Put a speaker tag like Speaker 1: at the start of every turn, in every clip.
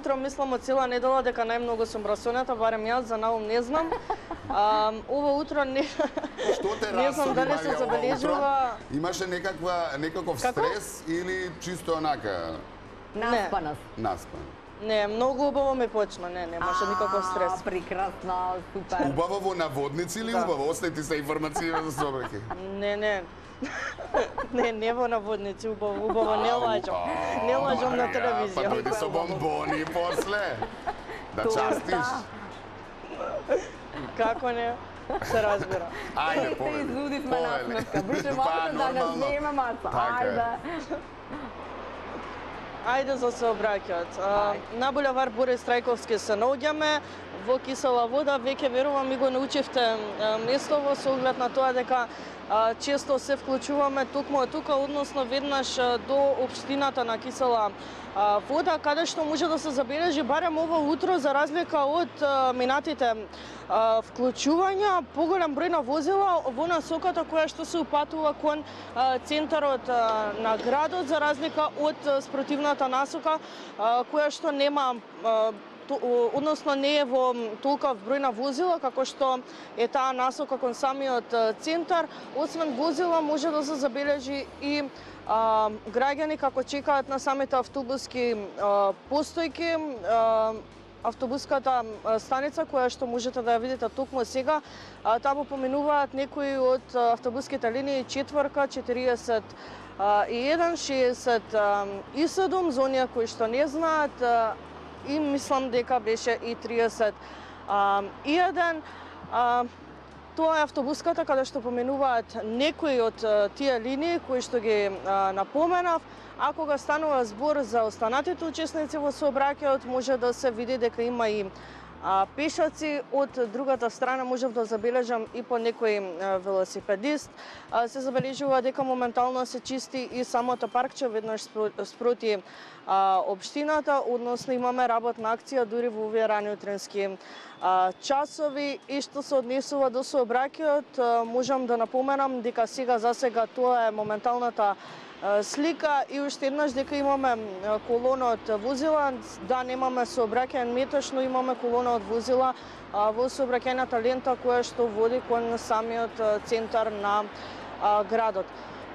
Speaker 1: утро мислам од цела недела дека најмногу сум расонета, барем јас, за наум не знам. Ова утро не
Speaker 2: Што те
Speaker 1: не знам дали се забележува.
Speaker 2: Имаше некаков стрес или чисто онака?
Speaker 3: Наспаност.
Speaker 2: Наспан.
Speaker 1: Не, многу убаво ми почна, не може никаков стрес.
Speaker 3: Прекрасно, супер.
Speaker 2: Убаво во наводници или убаво? Остајте се информации за собраки.
Speaker 1: Не. Не во наводници, убаво не лажам. Не лажам на телевизија.
Speaker 2: Па дојди со бомбони после. Да частиш.
Speaker 1: Како не? Се разбира.
Speaker 2: Ајде,
Speaker 3: Те излудивме насмевка. Брže можете да не снеме маца. Ајде.
Speaker 1: Ајде за сообраќајот. На булевар Борис Трајковски се наоѓаме во Кисела вода. Веќе верувам ми го научивте местово со оглед на тоа дека често се вклучуваме токму од тука, односно веднаш до општината на Кисела вода, каде што може да се забележи барем ова утро, за разлика од минатите вклучувања, поголем број на возила во насоката која што се упатува кон центарот на градот, за разлика од спротивната насока која што нема односно не е во толков број на возила како што е таа насока кон самиот центар. Освен возила може да се забележи и граѓани како чекаат на самите автобуски постојки, автобуската станица која што можете да ја видите токму сега. Таму поминуваат некои од автобуските линии 4, 41, 67, за оние кои што не знаат, и мислам дека беше и 31. Тоа е автобуската каде што поменуваат некои од тие линии кои што ги напоменав. А кога станува збор за останатите учесници во сообраќајот, може да се види дека има и пешаци. Од другата страна можев да забележам и по некој велосипедист. Се забележува дека моментално се чисти и самото паркче веднаш спроти општината, односно имаме работна акција дури во овие рани утренски часови. И што се однесува до сообраќајот, можам да напоменам дека засега тоа е моменталната слика и уште еднаш дека имаме колона од возила, да немаме сообраќајен метеж, но имаме колона од возила во сообраќајната лента која што води кон самиот центар на градот.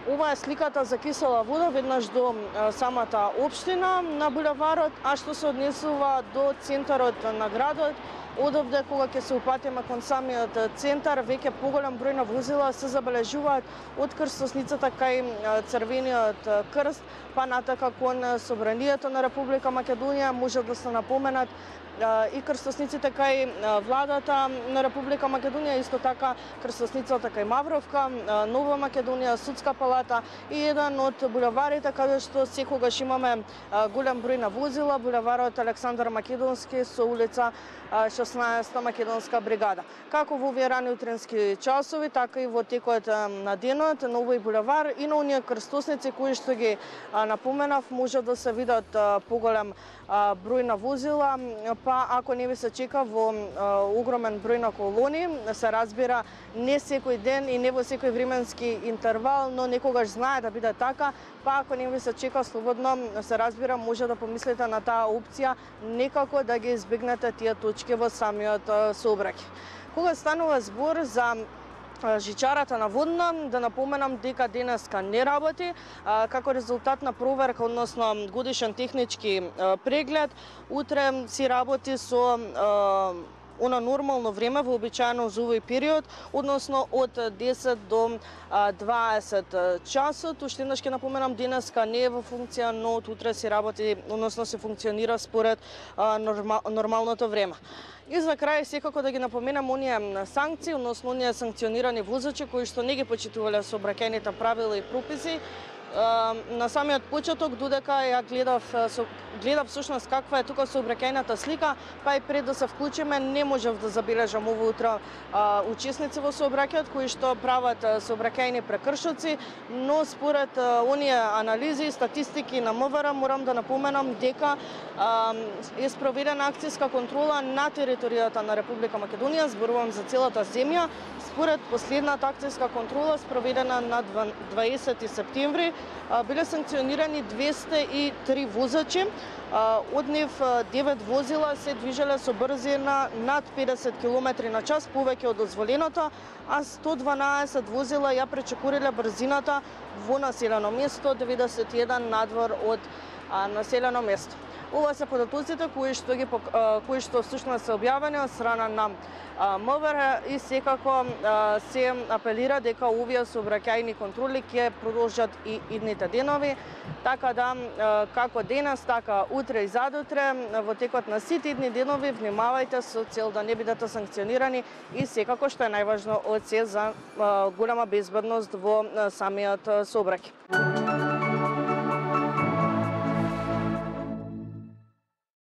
Speaker 1: Ова е сликата за Кисела вода веднаш до самата општина на булеварот, а што се однесува до центарот на градот, одовде кога ќе се упатиме кон самиот центар, веќе поголем број на возила се забележуваат од крстосницата кај Црвениот крст, па натака кон Собранието на Република Македонија. Може да се напоменат и крстосниците кај владата на Република Македонија, исто така крстосницата кај Мавровка, Нова Македонија, Судска палата и еден од булеварите каде што секогаш имаме голем број на возила, булеварот Александар Македонски со улица 16 Македонска бригада. Како во овие рани утренски часови, така и во текот на денот на овој булевар и на оние крстосници кои што ги напоменав, може да се видат поголем број на возила, па ако не ви се чека во огромен број на колони, се разбира не секој ден и не во секој временски интервал, но некогаш знае да биде така, па ако не ви се чека слободно, се разбира може да помислите на таа опција, некако да ги избегнете тие точки во самиот сообраќај. Кога станува збор за жичарата на водна, да напоменам дека денеска не работи, како резултат на проверка, односно годишен технички преглед. Утре си работи со она нормално време, вообичаено за овој период, односно од 10 до 20 часот. Уште еднаш ќе напоменам, денеска не е во функција, но од утре си работи, односно се функционира според нормалното време. И за крај секако да ги напоменам оние санкции, односно оние санкционирани возачи кои што не ги почитувале сообраќајните правила и прописи. На самиот почеток, додека ја гледав всушност каква е тука сообраќајната слика, па и пред да се вклучиме, не можев да забележам ово утро учесници во сообраќајот кои што прават сообраќајни прекршоци, но според оние анализи и статистики на МВР морам да напоменам дека е спроведена акцијска контрола на територијата на Република Македонија, зборувам за целата земја. Според последната акцијска контрола спроведена на 20 септември, биле санкционирани 203 возачи. Од нив 9 возила се движеле со брзина над 50 км на час повеќе од дозволеното, а 112 возила ја пречекориле брзината во населено место, 91 надвор од населено место. Ова се податоците кои што всушност се објавени од страна на МВР и секако се апелира дека овие сообраќајни контроли ќе продолжат и идните денови, така да како денес, така утре и задутре во текот на сите идни денови внимавајте со цел да не бидете санкционирани и секако што е најважно од се за голема безбедност во самиот сообраќај.